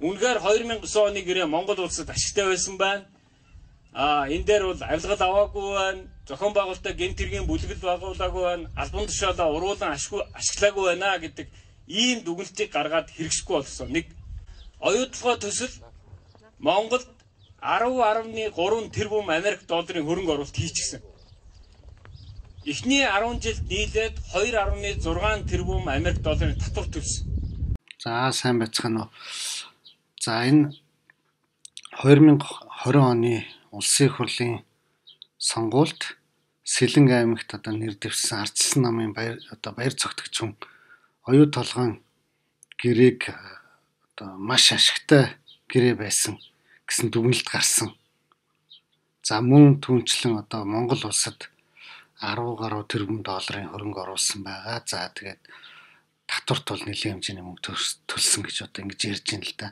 Үнэхээр 2009 оны гэрээ Монгол улсад ашигтай байсан байна. Энэ дээр бол авилгал аваагүй байна. Зохион байгуулалтаа гэмт хэргийн бүлэгэл байгуулаагүй байна. Албан тушаалаа уруулан ашиглаагүй байна гэдэг ийм дүгнэлтийг гаргаад хэрэгжихгүй болсон. Нэг оюутлогоо төсөл Монголд 10.3 тэрбум Америк долларын хөрөнгө оруулалт хийчихсэн. Эхний 10 жилд нийлээд 2.6 тэрбум Америк долларын татвар төлсөн. За сайн байцгаана уу. За энэ 2020 оны улсын их хурлын сонгуульд Сэлэнг аймагт нэр дэвшсэн Ардчилсан намын баяр цогтөгч хүн оюу толгойн гэрээг маш ашигтай гэрээ байсан гэсэн дүгнэлт гарсан. За мөн түүнчлэн Монгол улсад 10 гаруй тэрбум долларын хөрөнгө оруулсан байгаа. За тэгээд татварт бол нэлээд хэмжээний мөнгө төлсөн гэж ингэж ярьж байна л да.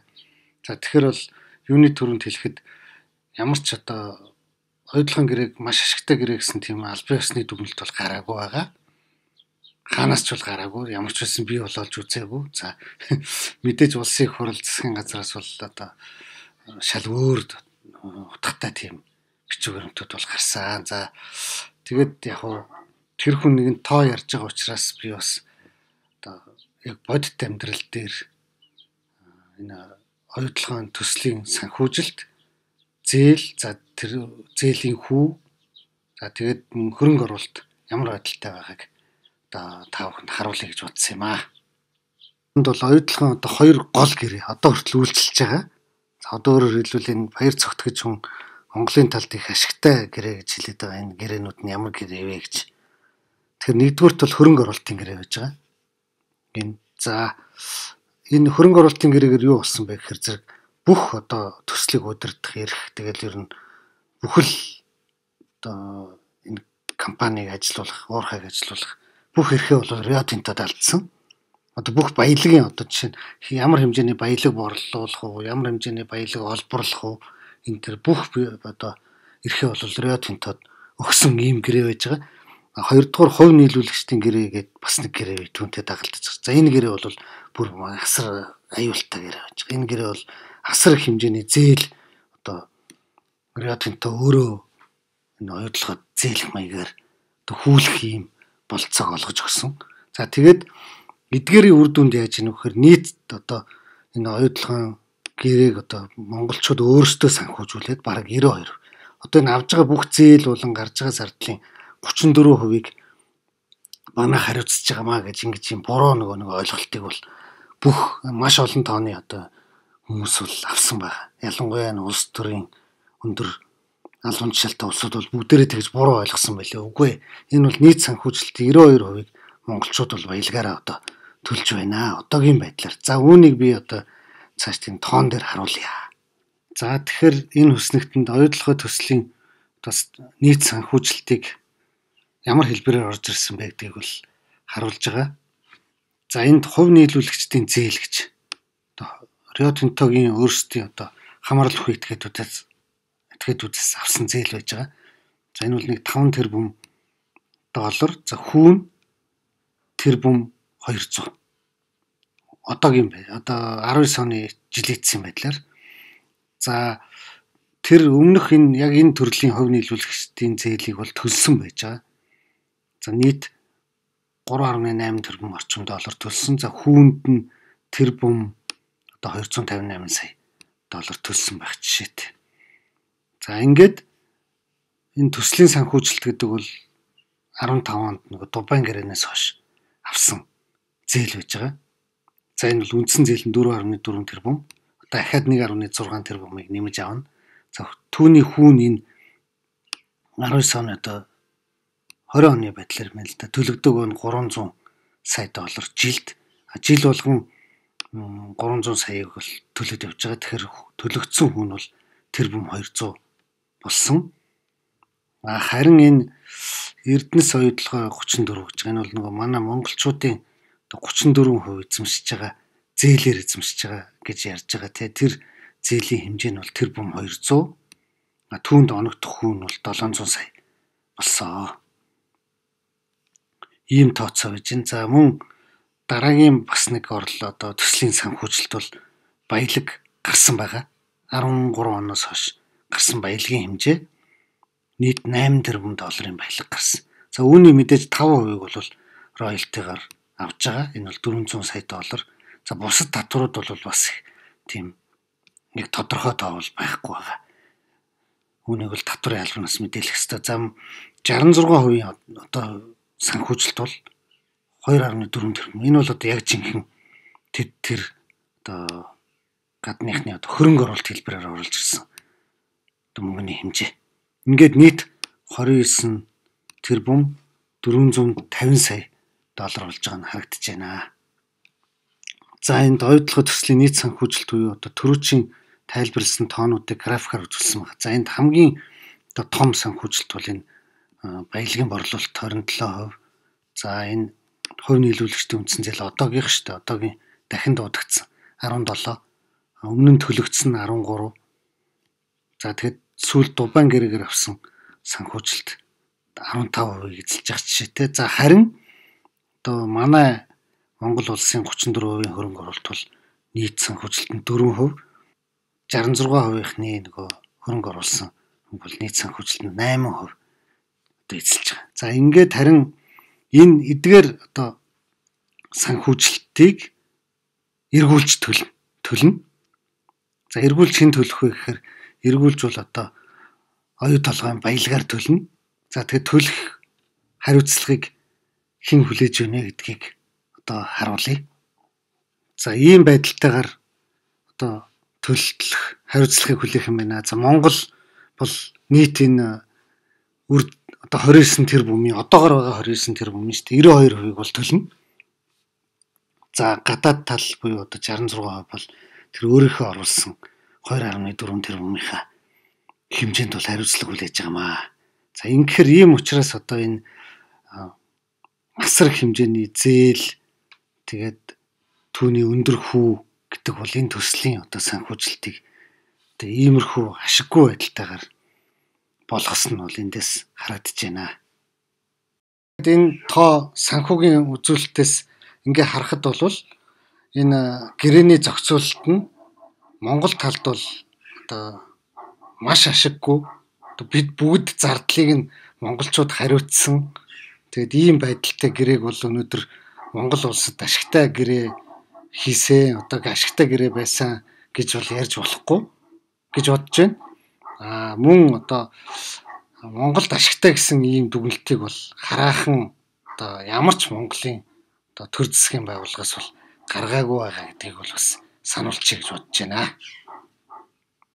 За тэгэхээр бол юуны төрөнд хэлэхэд ямар ч оюутлогын гэрээг маш ашигтай гэрээ гэсэн тийм албан ёсны дүгнэлт бол гараагүй байгаа. Хаанаас ч бол гараагүй. Ямар ч байсан би бол олж үзээгүй. За мэдээж улсын их хурл засгийн газраас бол шал өөр утгатай тийм бичиг баримтууд бол гарсан. За тэгээд яг тэр хүн нэгэн тоо ярьж байгаа учраас би бас яг бодит амьдрал дээр энэ оюутлогын төслийн санхүүжилт зээл, за тэр зээлийн хүү, за тэгээд хөрөнгө оруулалт ямар байдалтай байгааг та бүхэнд харуулъя гэж бодсон юм аа. Энд бол оюутлогын хоёр гол гэрээ хүртэл үйлчилж байгаа. За өөрөөр хэлбэл энэ баяр цогтгож хүн Монголын талд их ашигтай гэрээ гэж хэлээд байгаа. Энэ гэрээнүүд нь ямар гэрээ вэ гэж. Тэгэхээр нэгдүгürt бол хөрөнгө оруулалтын гэрээ байж байгаа. Энэ хөрөнгө оруулалтын гэрээгээр юу болсон бэ гэхээр зэрэг бүх төслийг удирдах эрх, тэгэл ер нь бүхэл энэ компанийг ажилуулах, уурхайг ажилуулах бүх эрхээ бол Рио Тинтод алдсан. Бүх баялагын жишээ нь ямар хэмжээний баялаг борлуулах уу, ямар хэмжээний баялаг олборлох уу, энэ төр бүх эрхээ бол Рио Тинтод өгсөн ийм гэрээ байж байгаа. Хоёрдугаар хувь нийлүүлэгчдийн гэрээ гэдэг бас нэг гэрээ түүнтэй дагалдаж байгаа. За энэ гэрээ бол бүр асар аюултай гэрээ байж байгаа. Энэ гэрээ бол асар их хэмжээний зээл Рио Тинто өөрөө энэ оюутлогод зээлх маягаар хүүлэх ийм болцоог олгож өгсөн. За тэгээд эдгээрийн үр дүнд яаж ийм вэхээр нийт энэ оюутлогын гэрээг монголчууд өөрсдөө санхүүжүүлээд бараг 92. Энэ авж байгаа бүх зээл болон гарч байгаа зардлын 34%-ийг манай хариуцж байгаамаа гэж ингэж юм буруу нэг ойлголтыг бол бүх маш олон тооны хүмүүс бол авсан байгаа. Ялангуяа улс төрийн өндөр албан тушаалтай улсууд бол бүгдээрээ тэгж буруу ойлгосон байлээ. Үгүй энэ бол нийт санхүүжилтийн 92%-ийг монголчууд бол баялагаараа төлж байна. Одоогийн байдлаар. За үүнийг би цааш тийм тоон дээр харуулъя. За тэгэхээр энэ хүснэгтэнд оюутлогын төслийн нийт санхүүжилтийг ямар хэлбэрээр орж ирсэн бэ гэдгийг бол харуулж байгаа. За энд хувь нийлүүлэгчдийн зээл гэж Рио Тинтогийн өөрсдийн хамаарал бүхий этгээдүүдээс авсан зээл байж байгаа. За энэ бол нэг 5 тэрбум доллар. За хүүн тэрбум 200. Одоогийн 19 оны жилийн байдлаар. За тэр өмнөх яг энэ төрлийн хувь нийлүүлэгчдийн зээлийг бол төлсөн байж байгаа. За нийт 3.8 тэрбум орчим доллар төлсөн. За хүүнд нь тэрбум 258 сая доллар төлсөн байх жишээтэй. За ингээд энэ төслийн санхүүжилт гэдэг бол 15 онд Дубайн гэрээнээс хойш авсан зээл байж байгаа. За энэ бол үндсэн зээл нь 4.4 тэрбум. Дахиад 1.6 тэрбумыг нэмж авна. За түүний хүүн энэ 19 оны 20 оны байдлаар мэн л да төлөгдөг нь 300 сая доллар жилд. Жил болгон 300 саяыг бол төлөд явж байгаа. Тэгэхээр төлөгдсөн хүн бол тэрбум 200 болсон. Харин энэ Эрдэнэс оюутлогоо 34 гэж байгаа. Энэ бол манай монголчуудын 34% эзэмшиж байгаа зээлээр эзэмшиж байгаа гэж ярьж байгаа. Тэр зээлийн хэмжээ нь бол тэрбум 200. Түүнд оногдох хүн бол 700 сая болсон. Ийм тооцоо байж байна. За мөн дараагийн бас нэг төслийн санхүүжилт бол баялаг гарсан байгаа. 13 оноос хойш гарсан баялагын хэмжээ нийт 8 тэрбум долларын баялаг гарсан. За үүний мэдээж 5% бол роялтигаар авж байгаа. Энэ бол 400 сая доллар. За бусад татварууд бол бас тийм нэг тодорхой тоо бол байхгүй байгаа. Үүнийг бол татварын албанаас мэдээлэх ёстой. За 66% одоо санхүүжилт бол 2.4 тэрбум. Энэ бол одоо яг жинхэнэ тэр одоо гадныхны одоо хөрөнгө оруулалт хэлбэрээр оруулж ирсэн одоо мөнгөний хэмжээ. Ингээд нийт 29 тэрбум 450 сая доллар болж байгаа нь харагдаж байна. За энд ойдлогоо төслийн нийт санхүүжилт буюу одоо төрүүчийн тайлбарласан тоонуудыг графикаар үзүүлсэн байна. За энд хамгийн одоо том санхүүжилт бол энэ баялагын борлуулалт 27%. За энэ хувь нийлүүлэгчдийн үндсэн зээл одоогийнх шүү дээ. Одоогийн дахин дуудагдсан 17. Өмнө нь төлөгдсөн 13. За тэгэхэд сүүл дубайн гэрээгээр авсан санхүүжилт 15% эзэлж байгаа жишээтэй. За харин одоо манай Монгол улсын 34% хөрөнгө оруулалт бол нийт санхүүжилтөнд 4%, 66%-ны нөгөө хөрөнгө оруулсан бол нийт санхүүжилтөнд 8% одоо эзэлж байгаа. За ингээд харин энэ эдгээр одоо санхүүжилтийг эргүүлж төлнө. За эргүүлж хэн төлөх вэ гэхээр эргүүлж бол одоо оюу толгойн баялагаар төлнө. За тэгээд төлөх хариуцлагыг хэн хүлээж өгнө гэдгийг одоо харуулъя. За ийм байдалтайгаар одоо төлөлтлөх хариуцлагыг хүлээх юм байна. За Монгол бол нийт энэ одоо 29 тэрбумын одоогор байгаа 29 тэрбумын шүү дээ 92% бол төлнө. За гадаад тал буюу одоо 66% бол тэр өөрийнхөө оруулсан 2.4 тэрбумынхаа хэмжээнд бол хариуцлага хүлээж байгаамаа. За ингэхээр ийм учраас одоо энэ асар хэмжээний зээл тэгээд түүний өндөр хүү гэдэг бол энэ төслийн одоо санхүүжилтийг одоо иймэрхүү ашиггүй байдалтайгаар болгос нь бол эндээс харагдаж байна. Энэ тоо санхүүгийн үзүүлэлтээс ингээ харахад бол энэ гэрээний зохицуулалт нь Монгол талд бол одоо маш ашиггүй. Бид бүгд зардлыг нь монголчууд хариуцсан. Тэгээд ийм байдалтай гэрээг бол өнөөдөр Монгол улсад ашигтай гэрээ хийсэн, одоо ашигтай гэрээ байсан гэж бол ярьж болохгүй гэж бодож байна. Мөн одоо Монголд ашигтай гэсэн ийм дүгнэлтийг бол хараахан одоо ямар ч Монголын одоо төр засгийн байгууллагаас бол гаргаагүй байгаа гэдгийг бол бас сануулчих гэж бодож байна.